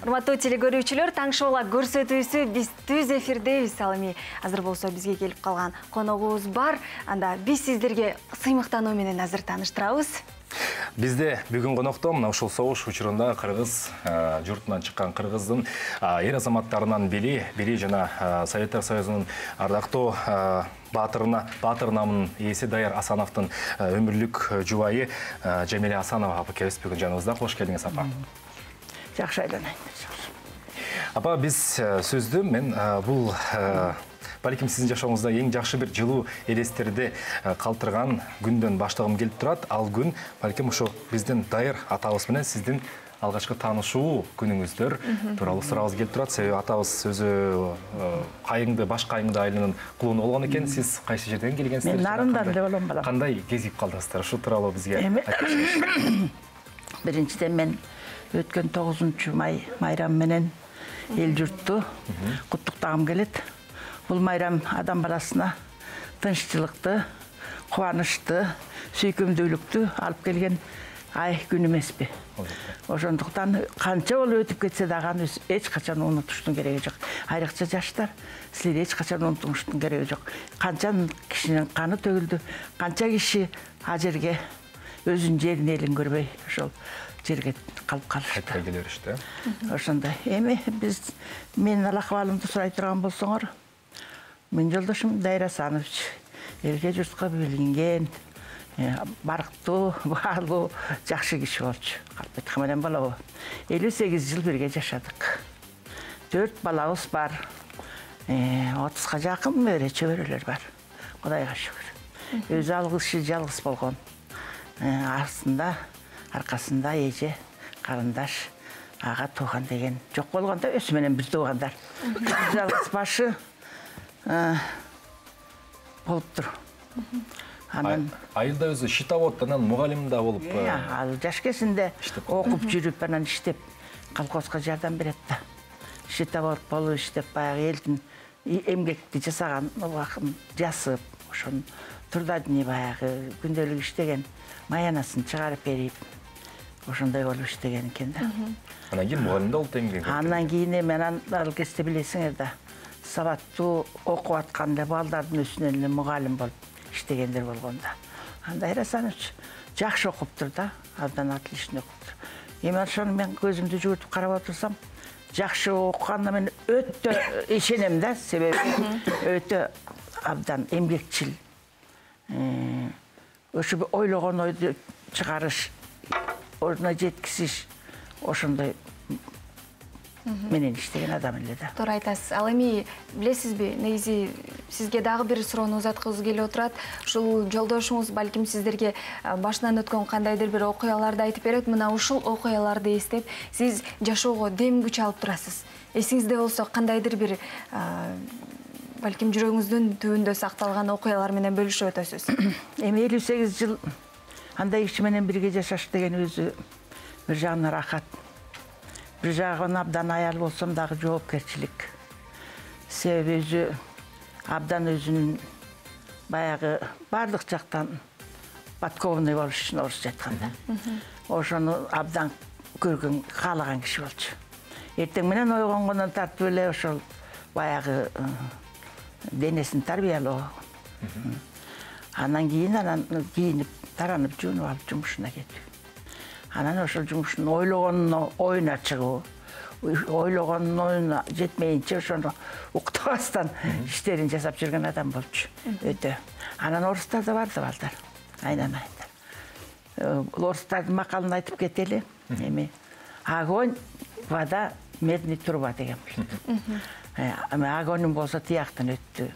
Урматтуу телекөрүүчүлөр, таң шоула көрсөтүүсү биз түз эфирдебиз. Ал эми азыр болсо бизге келип калган коногубуз бар. Анда биз сиздерге сыймыктануу менен азыр тааныштырабыз. Бизде бүгүн конокто мына ушул согуш учурунда кыргыз журтунан чыккан кыргыздын эр азаматтарынан бири жана Советтер Союзунун ардактуу баатыр намынын ээси Даяр Асановдун өмүрлүк жубайы Жамиля Асанова апа келип бүгүн жаныбызда. Кош келдиңиз апа. Жакшы айланайын. Апа, биз сөздү мен бул балким сиздин жашооңузда эң жакшы бир жылуу элестерди калтырган күндөн баштагым келип турат. Ал күн балким ошо биздин Дайыр атабыз менен сиздин алгачкы таанышуу күнүңүздөр тууралуу сурабыз келип турат. Себеби атабыз өзү кайыңды, баш кайыңды айылынын кулуну болгон экен. Сиз кайсы жерден келгенсиздер? Мен Нарындан эле болом балам. Кандай кезип калдыңыздар? Ушу тууралуу бизге айтып бериңиз. Биринчиден мен өткөн 9-май майрам менен эл журтту куттуктагым келет. Бул майрам адам баласына тынччылыкты, кубанычты, сүйкүмдүүлүктү алып келген ай күн эмеспи? Ошондуктан канча болуп өтүп кетсе дагы аны эч качан унутуштун кереги жок. Айрыкча жаштар, силер эч качан унутуштун кереги жок. Канча кишинин каны төгүлдү, канча киши а жерге өзүнүн жерин элин көрбөй ошол жерге калып калышты. Кайтпай келе беришти. Ошондой. Эми биз менин алакыбалымды сурай турган болсоңор, менин жолдошум Дайыр Асанович элге журтка билинген, барктуу, баалуу, жакшы киши болчу. Калп айткан менен болобу? 58 жыл бирге жашадык. 4 балабыз бар. 30га жакын мөөрө чөбөрөлөр бар. Кудайга шүгүр. Өзү жалгыз болгон. Аркасында эже, карындаш, ага тууган деген жок болгондо өзү менен бир туугандар. Жалгыз башы болуптур. Айылда өзү щитовод, анан мугалим да болуп. Ал жаш кезинде окуп жүрүп, анан иштеп, колхозго жардам берет да. Щитовод болуп иштеп, баягы элдин эмгекти жасаган убакын жасып, ошонун трудодни баягы күндөлүк иштеген маянасын чыгарып берип, ошондой болуп иштеген экен да. Анан кийин мугалим да болуп эмгек. Андан кийин эми ал кезде билесиңер да, сабаттуу окуп аткан эле балдардын үстүнөн эле мугалим болуп иштегендер болгон да. Дайыр Асанович жакшы окуптур да, абдан отлично окуптур. Эми ошону мен көзүмдү жүгүртүп карап отурсам, жакшы окуганына мен өтө ишенем да, себеби өтө абдан эмгекчил. Ошо ойлогон ойду чыгарыш, ордуна жеткизиш, ошондой менен иштеген адам эле да. Туура айтасыз. Ал эми билесизби, негизи сизге дагы бир суроону узаткызгым келип отурат. Ушул жолдошуңуз балким сиздерге башынан өткөн кандайдыр бир окуяларды айтып берет. Мына ушул окуяларды эстеп, сиз жашоого дем күч алып турасыз. Эсиңизде болсо кандайдыр бир балким жүрөгүңүздүн түбүндө сакталган окуялар менен бөлүшүп өтөсүз. Эми 58 жыл андай киши менен бирге жашаш деген өзү бир жагынан рахат. Бир жагынан абдан аял болсом дагы жоопкерчилик. Себеби өзү абдан өзүнүн баягы бардык жактан подкованный болуш үчүн орусча айтканда. Ошону абдан көргөн, каалаган киши болчу. Эртең менен ойгонгондон тартып эле ошол баягы денесин тарбиялоо. Анан кийинип, таранып, жуунуп алып жумушуна кетүү. Анан ошол жумушун ойлогонуна оюна чыгуу, ойлогонунун оюна жетмейинче ошону уктабастан иштерин жасап жүргөн адам болчу. Өтө. Анан орустар да барды балдар. Айнан. Орустардын макалын айтып кетели. Эми огонь, вода, медный труба деген болду. Огонь болсо тияктан өттү.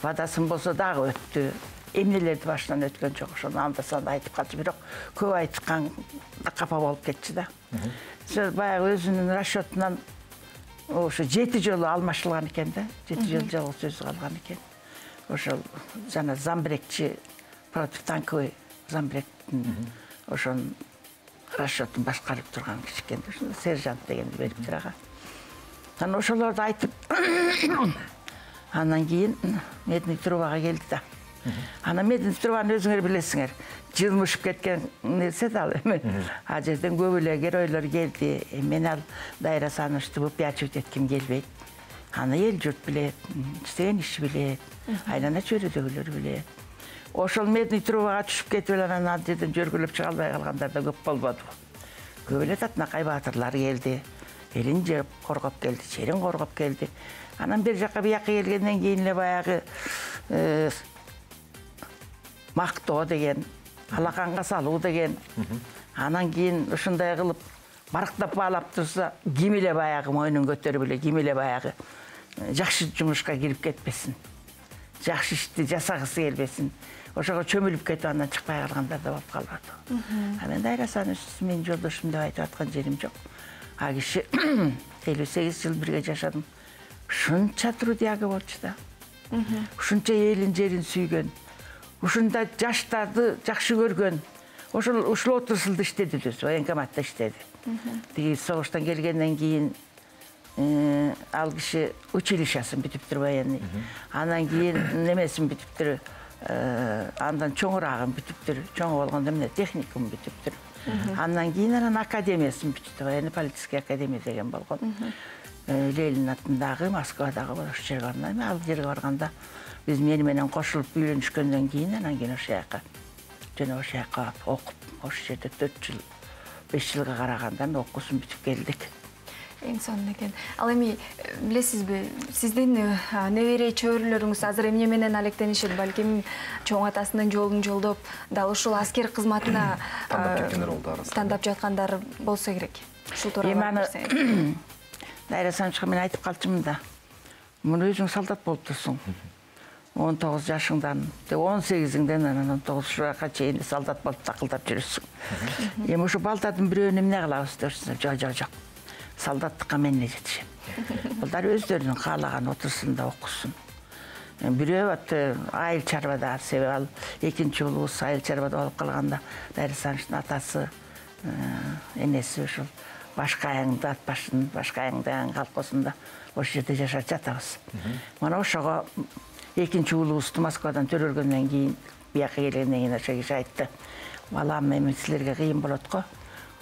Водасын болсо дагы өттү. Эмнелерди башынан өткөн жок, ошону анда-санда айтып калчу, бирок көп айткан капа болуп кетчү да. Баягы өзүнүн расчетунан ошо 7 жолу алмашылган экен да. 7 жолу жалгыз сөзү калган экен. Ошол жана замбрекчи, противотанковый замбректин ошонун расчетун башкарып турган киши экен. Сержант дегенди бериптир ага. Анан ошолорду айтып, андан кийин медный трубага келди да. Ана Мединстрованы өзүңөр билесиңер. Жылмышып кеткен нерсе да ал эми. А жерден көп эле геройлор келди. Мен ал Дайра Санычты выпячивать этким келбейт. Аны эл журт билет, иштеген иши билет, айлана чөйрөдөгүлөр билет. Ошол Медный трубага түшүп кетип эле анан ал жерден жөргүлөп чыга албай калгандар да көп болбодубу. Көп эле Татынакай баатырлар келди. Элин жеп коргоп келди, черин коргоп келди. Анан бир жака бияка келгенден кийин эле баягы мактоо деген, алаканга салуу деген. Анан кийин ушундай кылып барктап баалап турса, ким эле баягы мойнун көтөрүп эле, ким эле баягы жакшы жумушка кирип кетпесин. Жакшы ишти жасагысы келбесин. Ошого чөмүлүп кетип андан чыкпай калгандар да болуп калбады. А мен Дайра Саныч менин жолдошум деп айтып аткан жерим жок. А киши 58 жыл бирге жашадым. Ушунча трудяга болчу да. Ушунча элин жерин сүйгөн. Ушундай жаштарды жакшы көргөн. Ушул отурсулду иштеди өзү, военкоматта иштеди. Тиги согуштан келгенден кийин ал киши училищасын бүтүптүр военный. Андан кийин немесин бүтүптүр, андан чоңурагын бүтүптүр, чоң болгондо эмне техникум бүтүптүр. Андан кийин анан академиясын бүтүптүр, военный полицейский академия деген болгон. Ленин атындагы Москвадагы ошол жерге барган. Ал жерге барганда биз мени менен кошулуп үйлөнүшкөндөн кийин анан кийин ошол жака жана ошол жака окуп, ошол жерде 4 жыл, 5 жылга карагандан окуусун бүтүп келдик. Эң сонун экен. Ал эми билесизби, сиздин небере чөбөрөлөрүңүз азыр эмне менен алектенишет, балким чоң атасынын жолун жолдоп, дал ушул аскер кызматына тандап жаткандар болсо керек. Ушул тууралуу айтсаңыз. Дайра Санычка мен айтып калчумун да. Муну өзүң солдат болуп турсуң. 19 жашыңдан, 18-иңден анан 19 жашка чейин солдат болуп такылдап жүрөсүң. Эми ушу балдардын бирөөнү эмне кылабыз десем, жок. Солдаттыкка мен эле жетишем. Булдар өздөрүнүн каалаган отурсунда окусун. Бирөө айыл чарбада, себеби ал экинчи уулубуз айыл чарбада болуп калганда, Дайра Санычтын атасы, энеси ушул Башкайыңды атпашын, Башкайың колхозунда ошол жерде жашап жатабыз. Мана ошого экинчи уулубузду Москвадан төрөлгөндөн кийин, бияка келгенден кийин ошо киши айтты: "Балам, эми силерге кыйын болот го.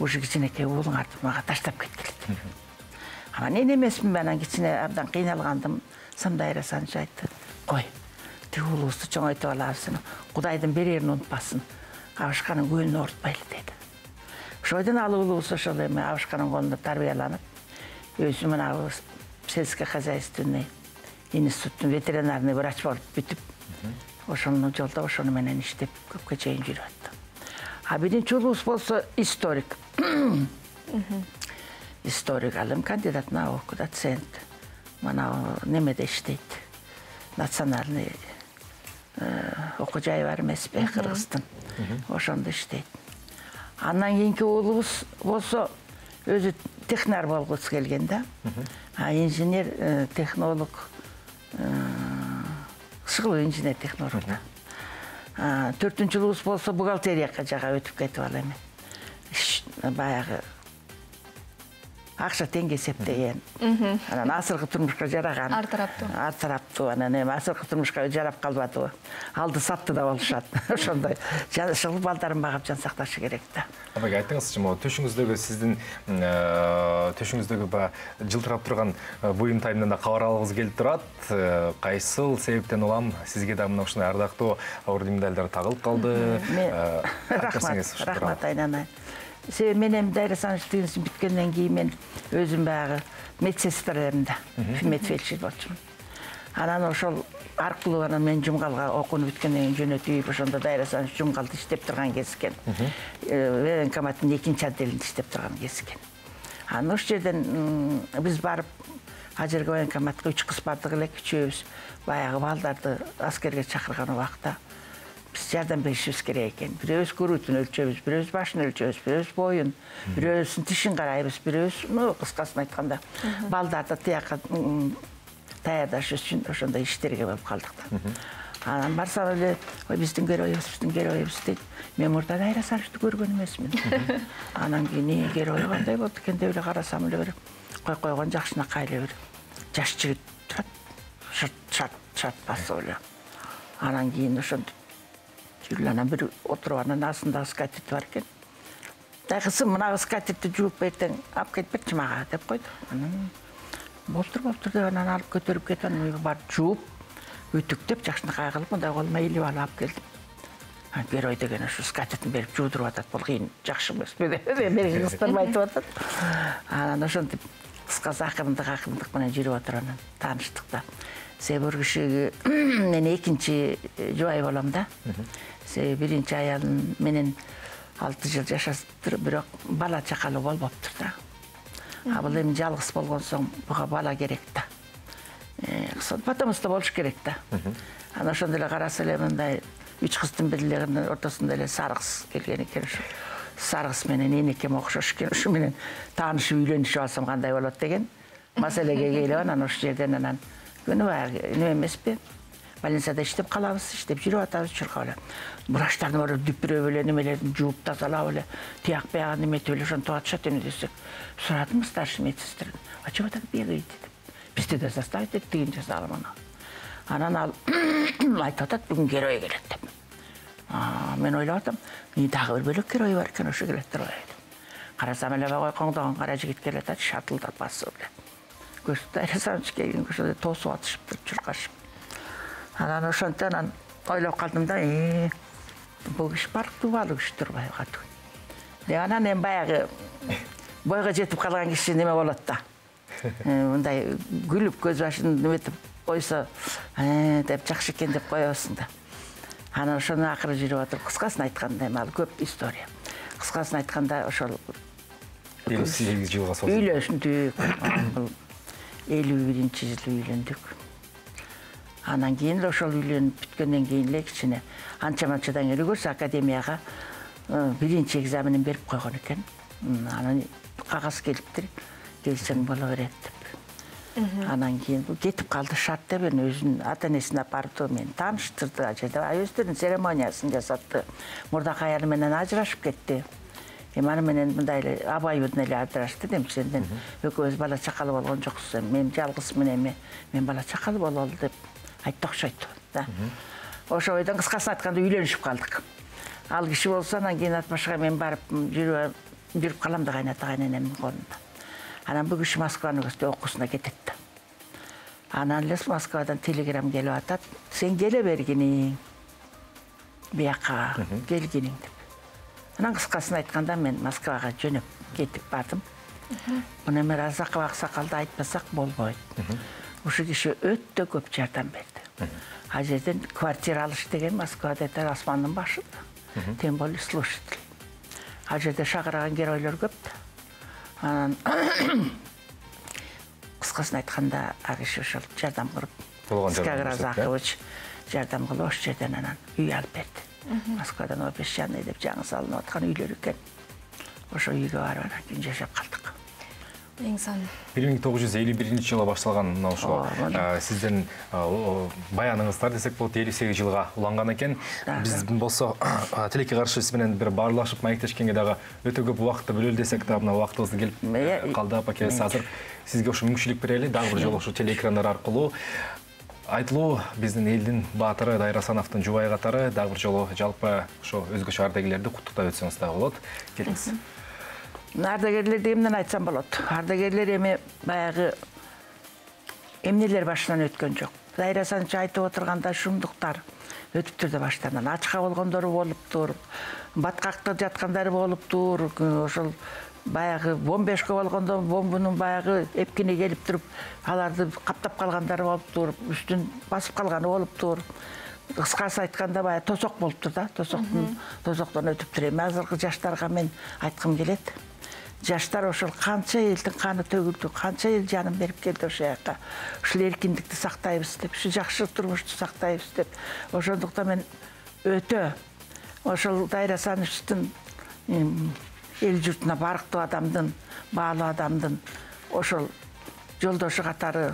Ушу кичинекей уулуңарды мага таштап кеткиле." Анан мен эмесмин, анан кичине абдан кыйналгандым. Дайра Саныч айтты: "Кой, тиги уулубузду чоңойтуп алабыз. Кудайдын берерин унутпасын. Абышканын көлүнө оорутпайлы" деди. Ошойдон ал уулубуз ошол эми Абышканын колунда тарбияланып, өзү мына сельскохозяйственный институттун ветеринарный врач болуп бүтүп, ошону жолдоп, ошону менен иштеп көпкө чейин жүрүп атты. А биринчи уулубуз болсо историк. Историк, ал кандидат наук, доцент. Мана немеде иштейт. Национальный окуу жайы бар эмеспи, Кыргыздын. Ошондо иштейт. Андан кийинки уулубуз болсо өзү технар болгусу келген да. Инженер, технолог, шыгыл инженер технолог да. 4-үчү уулубуз болсо бухгалтерияга жага өтүп кетип ал эми. Баягы акча теңге эсептеген. Анан азыркы турмушка жараган. Ар тараптуу. Анан эми азыркы турмушка жарап калбадыбы. Алды сатты да болушат. Ошондой шыл балдарын багып жан сакташы керек да. Апа, айтыңызчы, могу төшүңүздөгү сиздин төшүңүздөгү жылтырап турган буюм-тайымдан да кабар алгыбыз келип турат. Кайсыл себептен улам сизге да мына ушундай ардактуу орден медалдар тагылып калды? Рахмат айнанай. Себеби менен Дайра Санычтын бүткөндөн кийин мен өзүм баягы медсестраларында медфельдшер болчумун. Анан ошол аркылуу анан мен Жумгалга окууну бүткөндөн кийин жөнөтүп, ошондо Дайра Саныч Жумгалда иштеп турган кез экен. Военкоматтын 2-чи отделинде иштеп турган кез экен. Анан ошол жерден биз барып, ал жерге военкоматка 3 кыз бардык элек, үчөөбүз баягы балдарды аскерге чакырган убакта биз жардам беришибиз керек экен. Бирөөбүз күрүтүн өлчөбүз, бирөөбүз башын өлчөбүз, бирөөбүз боюн, бирөөбүздүн тишин карайбыз, бирөөбүз, кыскасын айтканда, балдарды тияка даярдаш үчүн ошондой иштерге болуп калдык да. Анан барсам эле, биздин геройубуз дейт. Мен мурда Дайра Санычты көргөн эмесмин. Анан кийин герой кандай болду экен деп эле карасам эле бир койгон жакшынакай эле бир жаш жигит турат. Шарт басып эле. Анан кийин ошентип анан бир отуруп анан астында скатерть бар экен. Кызым, мына скатертти жууп эртең алып кетип берчи мага деп койду. Анан болтур деп анан алып көтөрүп кетип анан үйгө барып жууп, үтүктөп жакшынакай кылып мындай колума илип алып келдим. Герой деген ушу скатертин берип жуудуруп атат. Бул кыйын, жакшы эмеспи деп берген кыздар айтып атат. Анан ошентип кыскасы акырындык менен жүрүп отуруп анан тааныштык да. Себеби бир кишиге мен экинчи жубай болом да. Себеби биринчи аялым менен 6 жыл жашаптыр, бирок бала чакалуу болбоптур да. А бул эми жалгыз болгон соң буга бала керек да. Потомство болуш керек да. Анан ошондо эле караса эле мындай 3 кыздын бирилегинин ортосунда эле сары кыз келген экен. Ушу сары кыз менен энекем окшош экен. Ушу менен таанышып үйлөнүшүп алсам кандай болот деген маселеге келип анан ошол жерден анан күнү баягы эме эмеспи? Больницада иштеп калабыз, иштеп жүрүп атабыз, чуркап эле. Врачтарды барып дүпүрөп эле немелерин жууп тазалап эле, тияк биягын эметип эле ошентип атышат эми десек. Сурадым старший медсестрден. А чего так бегаете деп. Бизди да заставить этип тигин жасаган ана. Анан ал айтып атат, бүгүн герой келет деп. Мен ойлоп атам, дагы бир бөлөк герой бар экен, ошо келет деп ойлойм. Карасам эле койкоңдогон кара жигит келет атат, шатылдап басып эле. Көзү айрасанч келген ошондо тосуп атышыптыр, чуркашып. Анан ошондон анан ойлоп калдым да, бул киши баалуу киши турбай калды. Анан эми баягы бойго жетип калган киши неме болот да. Мындай күлүп көз башын неметип койсо, деп жакшы экен деп коебузсуң да. Анан ошону акыры жүрүп атып, кыскасын айтканда эми ал көп история. Кыскасын айтканда ошол 58 жылга созулду. Үйлөндүк. 51-жылы үйлөндүк. Анан кийин ошол үйлөнүп бүткөндөн кийин эле кичине анча-манчадан эле көрсө академияга биринчи экзаменин берип койгон экен. Анан кагаз келиптир, келсең боло берет деп. Анан кийин кетип калды шарт деп өзүнүн ата-энесине апарды, мени тааныштырды, ал жерде өздөрүнүн церемониясын жасатты. Мурдакы аялы менен ажырашып кетти. Аны менен мындай эле абайбыдын эле ажырашты дейм, сенден экөөбүз бала чакалуу болгон жоксуз, мен жалгызмын эми, мен бала чакалуу бололу деп айтты окшойт да. Ошо бойдон кыскасын айтканда үйлөнүшүп калдык. Ал киши болсо анан кийин Атбашка мен барып жүрүп калам да кайненемдин колунда. Анан бул киши Москванын окуусуна кетет да. Анан эле Москвадан телеграмма келип атат, сен келе бергиниң, бияка келгиниң деп. Анан кыскасын айтканда мен Москвага жөнөп кетип бардым. Муну эми Разакова аксакалды айтпасак болбойт. Ушул киши өтө көп жардам берди. Ал жерден квартира алыш деген Москвада асмандын башында. Тем более слушатель. Ал жерде шакырган геройлор көп да. Анан кыскасын айтканда ал киши ошол жардам кылып, Скагра Разакович жардам кылып ошол жерден анан үй алып берди. Москвадан обещанный деп жаңы салынып аткан үйлөр экен. Ошо үйгө барып анан күн жашап калдык. Эң сон. 1951-жылы башталган мына ошо сиздин баяныңыздар десек болот 58 жылга уланган экен. Биз болсо тилекке каршы сиз менен бир баарлашып маектешкенге дагы өтө көп убакытты бөлөлү десек да мына убактыбыз келип калды. Апакебиз азыр сизге ошо мүмкүнчүлүк берели, дагы бир жолу ошо телеэкрандар аркылуу айтылуу биздин элдин баатыры Дайрасановдун жубайы катары дагы бир жолу жалпы ошо өзгөчө ардагерлерди куттуктап өтсөңүз дагы болот. Келиңиз. Ардагерлерди эмнен айтсам болот? Ардагерлер эми баягы эмнелер башынан өткөн жок. Дайрасанович айтып отурганда шумдуктар өтүптүр да баштан. Ачка болгондору болуптур, баткакта жаткандары болуптур, ошол баягы бомбешка болгондо бомбунун баягы эпкине келип туруп, аларды каптап калгандары болуптур, үстүн басып калганы болуптур. Кыскасы айтканда баягы тосок болуптур да, тосоктон өтүптүр. Эми азыркы жаштарга мен айткым келет. Жаштар ошол канча элдин каны төгүлдү, канча эл жанын берип келди ошол жака. Ушул эркиндикти сактайбыз деп, ушу жакшы турмушту сактайбыз деп. Ошондуктан мен өтө ошол Дайрасановичтин эл журтуна барктуу адамдын, баалуу адамдын ошол жолдошу катары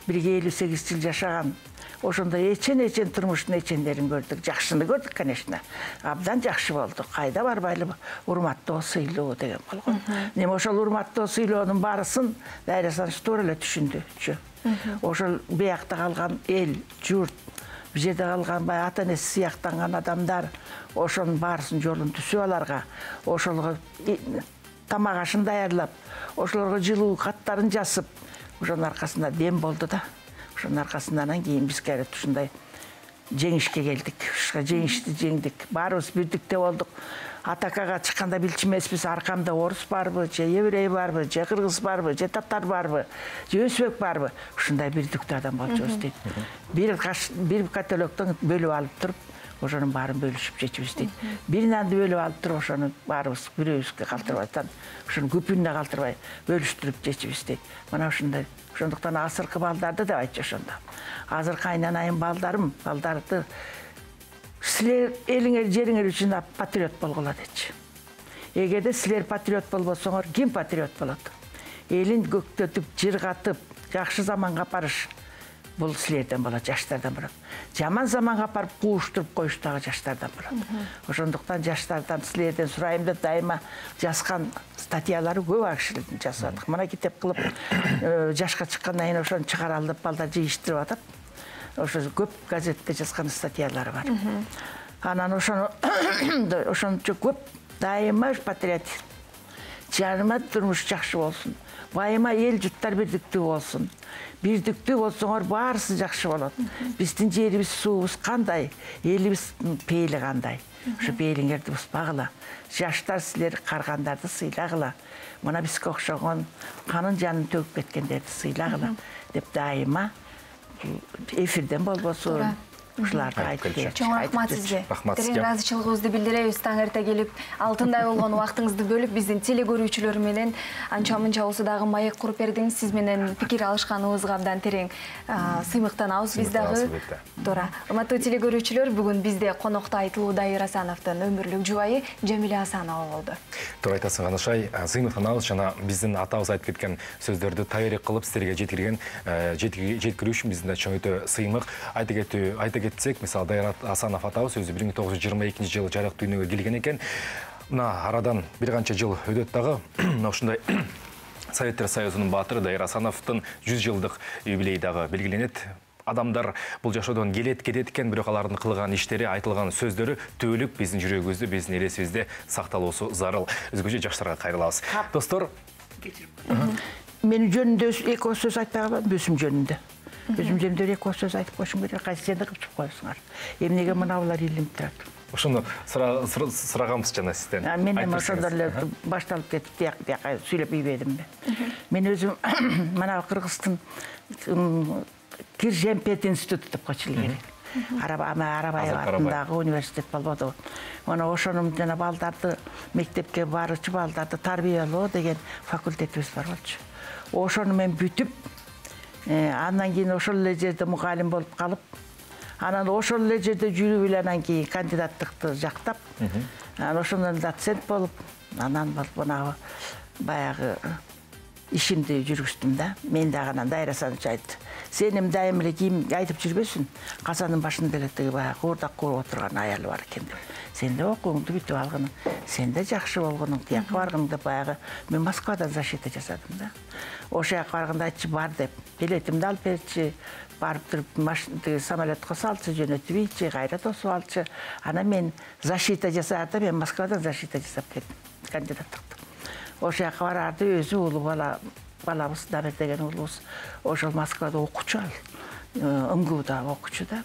бирге 58 жыл жашаган, ошондо эчен турмуштун эчендерин көрдүк, жакшыны көрдүк, конечно. Абдан жакшы болду. Кайда барбайлы урматтоо, сыйлоо деген болгон. Эми ошол урматтоо, сыйлоонун баарысын Дайрасанович туура эле түшүндү. Ошол биякта калган эл, журт, бул жерде калган баягы ата энеси сыяктанган адамдар ошонун баарысын жолун түзүп аларга, ошолго тамак ашын даярдап, ошолорго жылуу каттарын жасып, ошонун аркасында дем болду да. Ошонун аркасында анан кийин биз кайрат ушундай жеңишке келдик. Ушуга жеңишти жеңдик. Баарыбыз бирдикте болдук. Атакага чыкканда билчү эмеспиз, аркамда орус барбы, же еврей барбы, же кыргыз барбы, же татар барбы, же өзбек барбы. Ушундай бирдиктүү адам болчубуз дейт. Бир котелоктон бөлүп алып туруп, ошонун баарын бөлүшүп жечүбүз дейт. Бир нанды бөлүп алып туруп, ошону баарыбыз бирөөбүзгө калтырбай, ошону күпүнүнө калтырбай бөлүштүрүп жечүбүз дейт. Мына ушундай. Ошондуктан азыркы балдарды деп айтчу ошондо. Азыркы айнанайым балдарды силер элиңер жериңер үчүн патриот болгула дечи. Эгерде силер патриот болбосоңор, ким патриот болот? Элин көктөтүп, жыргатып, жакшы заманга апарыш бул силерден болот, жаштардан болот. Жаман заманга апарып кууштуруп коюш дагы жаштардан болот. Ошондуктан жаштардан силерден сурайм деп дайыма жазган статьялары көп акшилердин жасадык. Мына китеп кылып жашка чыккандан кийин ошону чыгаралы деп балдар жыйыштырып атат. Ошо көп газетте жазган статьялары бар. Анан ошончо көп дайыма патриотизм. Жарыма турмуш жакшы болсун. Байыма эл жуттар бирдиктүү болсун. Бирдиктүү болсоңор баарысы жакшы болот. Биздин жерибиз, суубуз кандай, элибиз пейили кандай. Ошо пейлиңерди бузбагыла. Жаштар силер каргандарды сыйлагыла. Мына бизге окшогон канын жанын төгүп кеткендерди сыйлагыла деп дайыма эфирден болбосун. Ушуларды айтып келчү. Чоң рахмат сизге. Терең ыраазычылыгыбызды билдиребиз. Таң эрте келип, алтындай болгон убактыңызды бөлүп, биздин телекөрүүчүлөр менен анча-мынча болсо дагы маек куруп бердиңиз. Сиз менен пикир алышканыбызга абдан терең сыймыктанабыз биз дагы. Туура. Урматтуу телекөрүүчүлөр, бүгүн бизде конокто Айтылуу Дайыр Асановдун өмүрлүк жубайы Жамиля Асанова болду. Туура айтасың, Канышай. Сыймыктанабыз жана биздин атабыз айтып кеткен сөздөрдү тайырык кылып сиздерге жеткирүү үчүн биздин да чоң өтө сыймык. Айта кетсек, мисалы Дайыр Асанов атабыз өзү 1922-жылы жарык дүйнөгө келген экен. Мына арадан бир канча жыл өтөт дагы. Ушундай Советтер Союзунун баатыры Дайыр Асановдун 100 жылдык юбилейи дагы белгиленет. Адамдар бул жашоодон кетет экен, бирок алардын кылган иштери, айтылган сөздөрү түбөлүк биздин жүрөгүбүздө, биздин элесибизде сакталуусу зарыл. Өзгөчө жаштарга кайрылабыз. Достор, мен жөнүндө эки сөз айтпай калам, өзүм жөнүндө. Өзүм жөнүндө эки сөз айтып коюшум керек, кайсы жерде кылып коесуңар. Эмнеге мына булар илинип турат? Ошону сураганбыз жана сизден. Мен эми ошондор эле башталып кетип, тияка сүйлөп ийбедимби. Мен өзүм мына Кыргыздын Кир Жемпет институту деп койчу эле. Арабаев атындагы университет болбоду. Мына ошонун жана балдарды мектепке баруучу балдарды тарбиялоо деген факультетибиз бар болчу. Ошону мен бүтүп, андан кийин ошол эле жерде мугалим болуп калып, анан ошол эле жерде жүрүп эле анан кийин кандидаттыкты жактап, анан ошондон доцент болуп, анан мына баягы ишимди жүргүздүм да. Мен дагы анан Дайыр Асанович айтты. Сеним дайым эле кийим айтып жүрбөсүн. Казанын башында эле тиги баягы куурдак кууруп отурган аялы бар экен деп. Сен да окууңду бүтүп алгының, сен да жакшы болгонуң, тияка баргың деп баягы мен Москвадан защита жасадым да. Ошол жака барганда айтчы бар деп, билетимди алып берчи, барып туруп самолетко салчы, жөнөтүп ийчи, кайра тосуп алчы. Анан мен защита жасаарды, мен Москвадан защита жасап келдим, кандидаттыкты. Ошол жака барарды өзү улуу балабыз Дамир деген уулубуз ошол Москвада окучу ал, МГУда окучу да.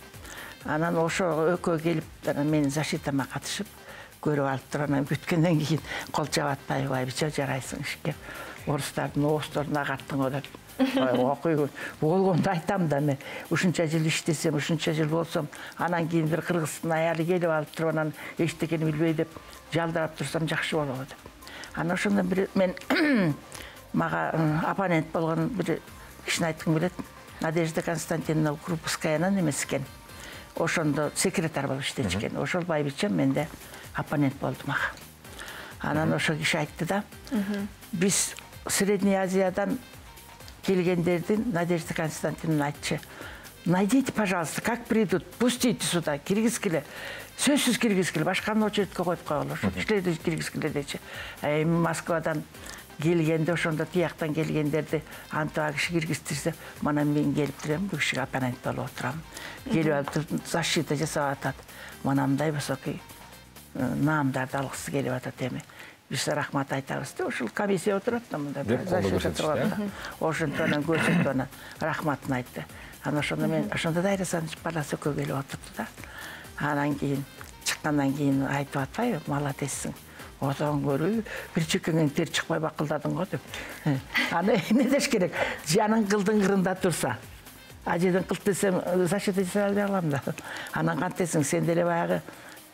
Анан ошо экөө келип, анан менин защитама катышып, көрүп алып туруп, анан бүткөндөн кийин кол чабатпай, байбича жарайсың ишке. Орустардын оосторун агаттың деп. Окуй болгонду айтам да мен. Ушунча жыл иштесем, ушунча жыл болсом, анан кийин бир кыргыздын аялы келип алып туруп, анан эчтекени билбей деп жалдырап турсам жакшы болобу деп. Анан ошондон бир мен мага оппонент болгон бир кишини айткым келет. Надежда Константиновна Крупскаянын эмес экен. Ошондо секретарь болуп иштечкен. Ошол байбичем менде оппонент болду мага. Анан ошол киши айтты да, биз Средняя Азиядан келгендердин Надежда Константиновна айтчы. Найдите, пожалуйста, как придут, пустите сюда, киргизгиле. Сөзсүз киргизгиле, башканы очередке коюп коелу. Иштейди киргизгиле дечи. Москвадан келгенде ошондо тияктан келгендерди антып киши киргизтирсе, мына мен келип турам, бул кишиге оппонент болуп отурам. Келип алып защита жасап атат. Мына мындай высокий наамдарды алгысы келип атат эми. Биз рахмат айтабыз да, ушул комиссия отурат да мында защита турганда. Ошондон көрсөтүп анан рахматын айтты. Анан ошондо мен ошондо да Айрасанович баласы экөө келип отурду да. Анан кийин чыккандан кийин айтып атпайбы, молодецсиң. Одан көрү бир чекеңен тер чыкпай бакылдадың го деп. Аны эмне деш керек? Жаның кылдың кырында турса, ажыдан кылт десем защита жасай албай калам да. Анан кантесиң сен деле баягы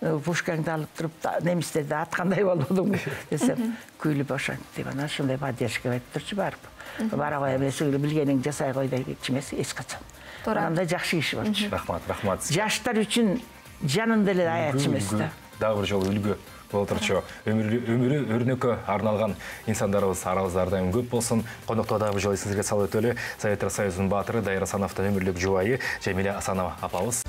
пушкаңды алып туруп немистерди аткандай болдуң десем, күйлүп ошентип анан ушундай поддержка берип турчу барып. Бара кой эмес билгениңди жасай кой дейчү эмес эч качан. Андай жакшы киши болчу. Рахмат. Жаштар үчүн жанын деле аячы эмес да. Дагы бир жолу үлгү болуп турчу. Өмүрү өрнөккө арналган инсандарыбыз арабызда ар дайым көп болсун. Коноктоо дагы бир жолу эсиңизге салып өтөлү. Советтер Союзунун баатыры Дайыр Асановдун өмүрлүк жубайы Жамиля Асанова апабыз.